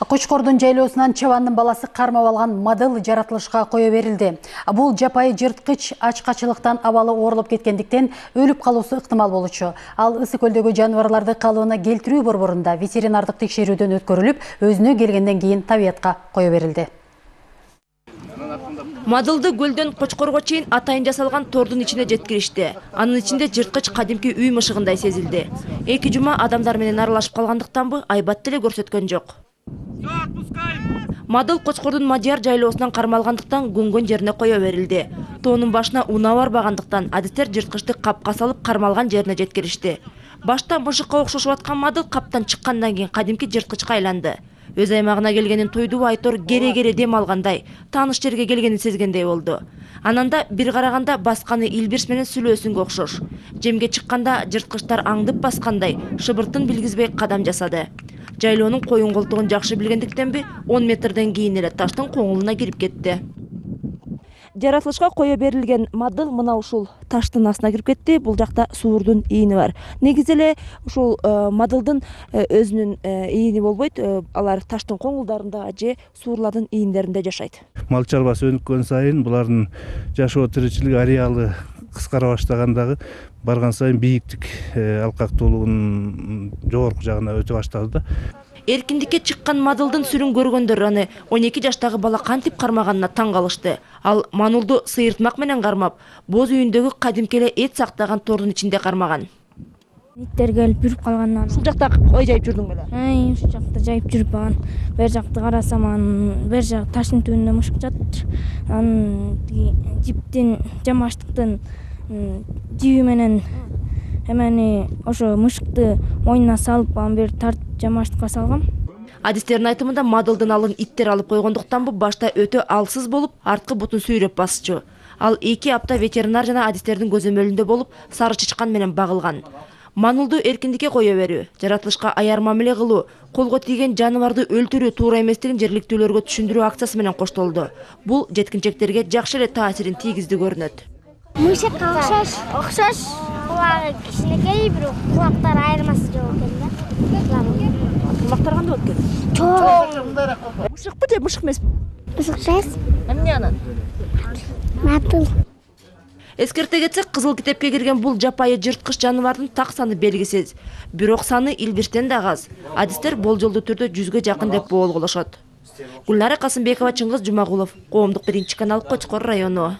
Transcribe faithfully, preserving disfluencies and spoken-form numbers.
Кочкордун жайлоосунан чабандын баласы кармап алган мадыл жаратылышка кое берилди. Бул жапайы жырткыч ачкачылыктан абалы оорулуп кеткендиктен өлүп калуусу ыктымал болчу. Ал Ысык көлдөгү жаныбарларды калыбына келтирүү борборунда ветеринардык текшерүүдөн өткөрүлүп, өзүнө келгенден кийин табиятка кое берилди. Мадылды көлдөн Кочкорго чейин атайын жасалган тордун ичине жеткиришти. Анын ичинде жырткыч кадимки үй мышыгындай сезилди. Эки жума адамдар менен аралашып калгандыктанбы, айбат деле көрсөткөн жок. Мадыл Кочкордун Мадияр жайлоосунан кармалгандыктан көңгөн жерине кое берилди. Тоонун башына унаа барбагандыктан адистер жырткычты капка салып кармалган жерине жеткиришти. Башта мышыкка окшошуп аткан мадыл каптан чыккандан кийин кадимки жырткычка айланды. Өз аймагына келгенин тойдуу айтор кере-кере дем алгандай, тааныш жерге келгенин сезгендей болду. Ананда бир караганда басканы илбирс менен сүлөөсүнгө окшош. Жемге чыкканда жырткычтар аңдып баскандай, шыбыртын билгизбей кадам жасады. Жайлоонун коюн колтугун жакшы билгендиктенби, он метрден кийин эле таштын коңулуна кирип кетти. Жаратылышка кое берилген мадыл мына ушул таштын астына кирип кетти. Бул жакта суурдун ийини бар. Негизи эле ушул мадылдын өзүнүн ийини болбойт. Алар таштын коңулдарында же суурлардын ийиндеринде жашайт. Мал чарбасы өнүккөн сайын булардын жашоо тиричилик ареалы кыскара баштагандагы барган сайын бийиктик алкактуулугунун жогорку жагына өтө баштады да. Эркиндикке чыккан мадылдын сүрүн көргөндөр аны он эки жаштагы бала кантип кармаганына таң калышты. Ал манулду сыйыртмак менен кармап, боз үйүндөгү кадимки эле эт сактаган тордун ичинде кармаган. Иттер келип жүрүп калгандан. Ушул жакта кой жайып жүрдүң беле? Ай, ушул жакта жайып жүрүп калган. Бер жакты карасам, анын бер жак таштын түбүндө мышык жатыр. Анын жиптин жамаштыктын жиби менен эмени ошо мышыкты мойнуна салып, анан бир тартып жамаштыкка салгам. Адистердин айтымында мадылдын алын иттер алып койгондуктанбы башта өтө алсыз болуп, арткы бутун сүйрөп басчу. Ал эки апта ветеринар жана адистердин көзөмөлүндө болуп, сары чычкан менен багылган. Манулду эркиндикке кое берүү, жаратылышка аяр мамиле кылуу, колго тийген жаныбарды өлтүрүү туура эместигин жергиликтүүлөргө түшүндүрүү акциясы менен коштолду. Бул жеткинчектерге жакшы эле таасирин тийгизди көрүнөт. Мышыкка окшош, окшош. Кулагы кичинекей, бирок кулактары айырмасы жок экен да. Кулактар кандай болуп экен? Чоң. Мышыкпы же мышык эмеспи? Мышык эмес. Эмне анан? Мадыл. Эскерте кетсек, кызыл китепке кирген бул жапайы жырткыч жаныбардын так саны белгисиз. Бирок саны илбирстен да аз. Адистер болжолдуу түрдө жүзгө жакын деп боолголошот. Гүлнара Касымбекова, Чыңгыз Жумагулов, Коомдук биринчи канал, Кочкор району.